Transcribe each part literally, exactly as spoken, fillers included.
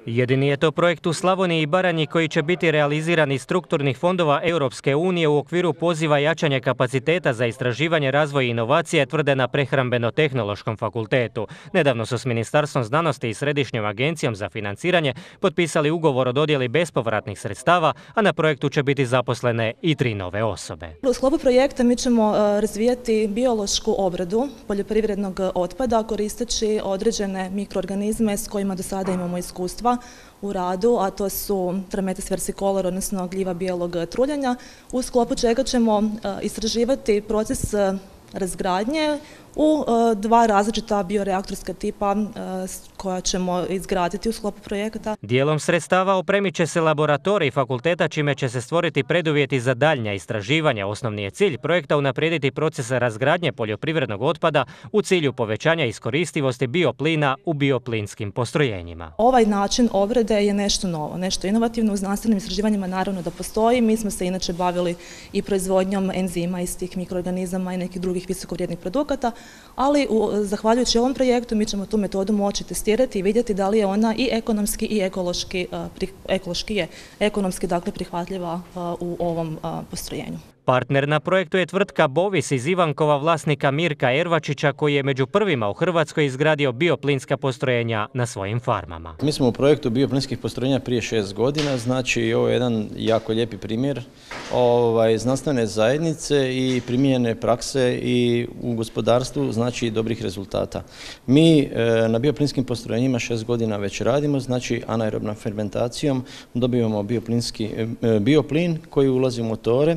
Jedini je to projekt u Slavoniji i Baranji koji će biti realiziran iz strukturnih fondova Europske unije u okviru poziva jačanja kapaciteta za istraživanje, razvoj i inovacije, tvrde na Prehrambeno-tehnološkom fakultetu. Nedavno su s Ministarstvom znanosti i Središnjom agencijom za financiranje potpisali ugovor o dodjeli bespovratnih sredstava, a na projektu će biti zaposlene i tri nove osobe. U sklopu projekta mi ćemo razvijati biološku obradu poljoprivrednog otpada koristeći određene mikroorganizme s kojima do sada imamo iskustva u radu, a to su Trametes versicolor, odnosno gljiva bijelog truljanja, u sklopu čega ćemo istraživati proces razgradnje u dva različita bioreaktorska tipa koja ćemo izgraditi u sklopu projekata. Dijelom sredstava opremit će se laboratorij fakulteta, čime će se stvoriti preduvjeti za daljnja istraživanja. Osnovni je cilj projekta unaprijediti proces razgradnje poljoprivrednog otpada u cilju povećanja iskoristivosti bioplina u bioplinskim postrojenjima. Ovaj način obrade je nešto novo, nešto inovativno. U znanstvenim istraživanjima naravno da postoji. Mi smo se inače bavili i proizvodnjom enzima iz tih mikroorganizama i nekih drugih visokovrijednih produkata, ali u, zahvaljujući ovom projektu mi ćemo tu metodu moći testirati i vidjeti da li je ona i ekonomski i ekološki, ekološki je ekonomski dakle prihvatljiva u ovom postrojenju. Partner na projektu je tvrtka Bovis iz Ivankova, vlasnika Mirka Ervačića, koji je među prvima u Hrvatskoj izgradio bioplinska postrojenja na svojim farmama. Mi smo u projektu bioplinskih postrojenja prije šest godina, znači ovo je jedan jako lijepi primjer ovaj, znanstvene zajednice i primijenjene prakse i u gospodarstvu, znači dobrih rezultata. Mi e, na bioplinskim postrojenjima šest godina već radimo, znači anaerobnom fermentacijom dobivamo bioplinski, e, bioplin koji ulazi u motore,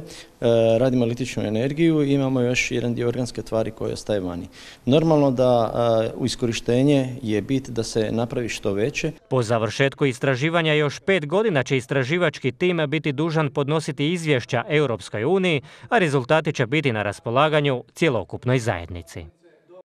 radimo električnu energiju i imamo još jedan dio organske tvari koje ostaje vani. Normalno da u iskorištenje je bit da se napravi što veće. Po završetku istraživanja još pet godina će istraživački tim biti dužan podnositi izvješća Europskoj uniji, a rezultati će biti na raspolaganju cjelokupnoj zajednici.